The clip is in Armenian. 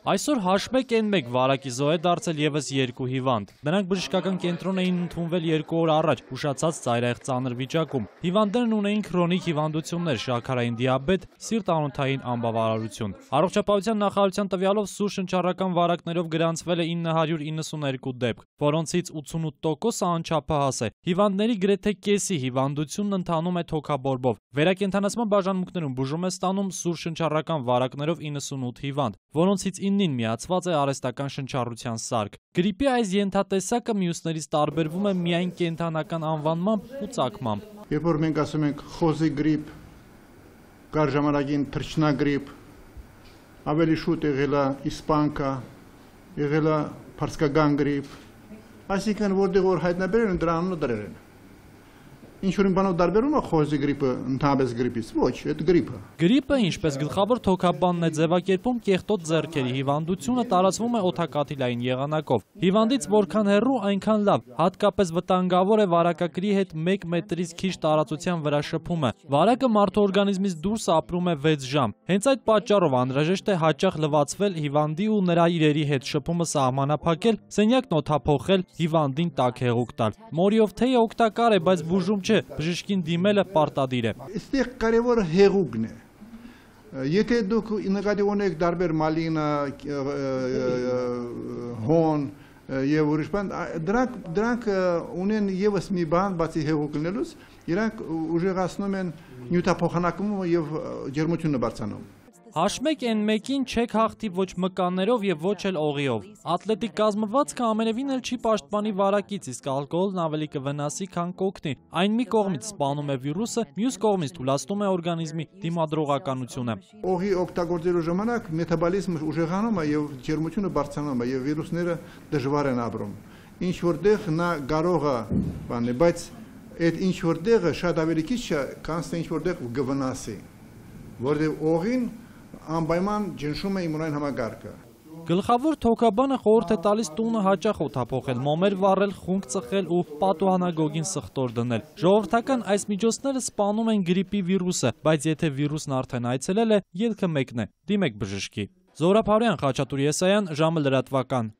Այսօր H1N1 վարակի զոհ է դարձել ևս 2 հիվանդ։ Նրանք բժշկական կենտրոն էին ընդունվել 2 օր առաջ, ուշացած ծայրահեղ ծանր վիճակում։ Հիվանդներն ունեին քրոնիկ հիվանդություններ, շաքարային դիաբետ, սիրտ-անոթային անբավարարություն։ Առողջապահության նախարարության տվյալով սուր շնչառական վարակներով գրանցվել է 992 դեպք, որոնցից 88%-ը անչափահաս է։ Հիվանդների գրեթե կեսի հիվանդությունն ընթանում է թոքաբորբով։ Վերակենդանացման բաժանմունքներում բուժում է ստանում սուր շնչառական վարակներով 98 հիվանդ, որոնցից 9-ին միացված է արհեստական շնչառության սարք։ Գրիպի այս ենթատեսակը մյուսներից տարբերվում է միայն կենդանական անվանմամբ ու ծագմամբ։ Երբ որ մենք ասում ենք խոզի գրիպ, կար ժամանակին թռչնագրիպ, ավելի շուտ եղել է իսպանկա, եղել է փարսկական գրիպ, այսինքն որտեղ որ հայտնաբերել են դրա անունը դրել են։ Ինչ-որ բանով տարբերում է խոզի գրիպը ընդհանրապես գրիպից, ոչ, այդ գրիպը։ Գրիպը, ինչպես գլխավոր թոքաբանն է ձևակերպում, կեղտոտ ձեռքերի հիվանդությունը տարածվում է օդակաթիլային եղանակով։ Հիվանդից որքան հեռու, այնքան լավ, հատկապես վտանգավոր է վարակագրի հետ 1 մետրից քիչ տարածության վրա շփումը։ Վարակը մարդու օրգանիզմից դուրս ապրում է 6 ժամ։ Հենց այդ պատճառով անհրաժեշտ է հաճախ լվացվել հիվանդի ու նրա իրերի հետ շփումը սահմանափակել, սենյակն օդափոխել, հիվանդին տաք հեղուկ տալ։ Մորիով թեյը օգտակար է, բայց բուժում չէ, բժշկին դիմելը պարտադիր է։ Այստեղ կարևորը հեղուկն է։ Եթե դուք նկատի ունեք տարբեր մալինա, հոն եւ ուրիշ բան, դրանք ունեն եւս մի բան, բացի հեղուկ լինելուց, իրանք ուժեղացնում են նյութափոխանակումը եւ ջերմությունը բարձրանում։ H1N1-ին չեք հաղթի ոչ մկաններով եւ ոչ էլ օղիով։ Ատլետիկ կազմվածքը ամենևին էլ չի պաշտպանի վարակից, իսկ ալկոհոլն ավելի կվնասի, քան կօգնի։ Այն մի կողմից սպանում է վիրուսը, մյուս կողմից թուլացնում է օրգանիզմի դիմադրողականությունը։ Օղի օգտագործելու ժամանակ մետաբոլիզմը ուժեղանում է եւ ջերմությունը բարձրանում է եւ վիրուսները դժվար են ապրում։ Ինչ որտեղ նա կարող է բանը, բայց այդ ինչ որտեղը շատ ավելի քիչ է, քան ինչ որտեղ կվնասի։ Որտեղ օղին անպայման ճնշում է իմունային համակարգը։ Գլխավոր թոքաբանը խորհուրդ է տալիս տունը հաճախ օդափոխել, մոմեր վառել, խունկ ծխել ու պատուհանագոգին սխտոր դնել։ Ժողովրդական այս միջոցները սպանում են գրիպի վիրուսը, բայց եթե վիրուսն արդեն այցելել է, ելքը մեկն է՝ դիմեք բժշկի։ Զոհրաբ Հարոյան, Խաչատուր Եսայան, ժամը լրատվական։